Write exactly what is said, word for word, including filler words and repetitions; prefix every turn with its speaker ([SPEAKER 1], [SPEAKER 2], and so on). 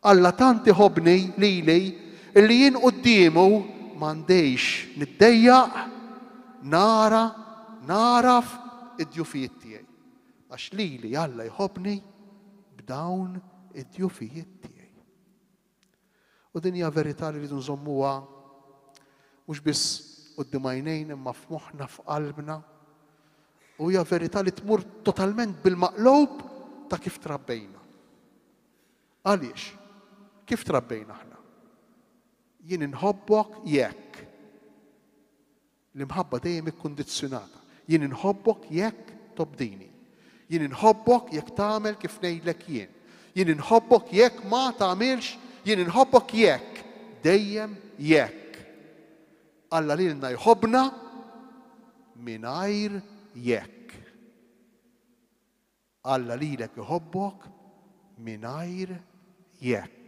[SPEAKER 1] Alla tant iħobbni lili illi jien quddiemu m'għandix niddejjaq nara naraf id-djufijiet tiegħi. Għax lili Alla jħobbni b'dawn id-djufijiet tiegħi. U din hija verità li rridu nżommuha mhux biss quddiem għajnejn imma f'moħħna, f'qalbna. U hija verità li tmur totalment bil-maqlub ta' kif trabbejna. Għaliex? Kif trabbejna aħna? Jien inħobbok jekk. L-imħabba dejjem ikkundizzjonata. Jien inħobbok jekk tobdini. Jien inħobbok jekk tagħmel kif ngħidlek jien. Jien inħobbok jekk ma tagħmilx, jien inħobbok jekk. Dejjem jekk. Alla lilna jħobbna mingħajr jekk. Alla lilek iħobbok mingħajr jekk.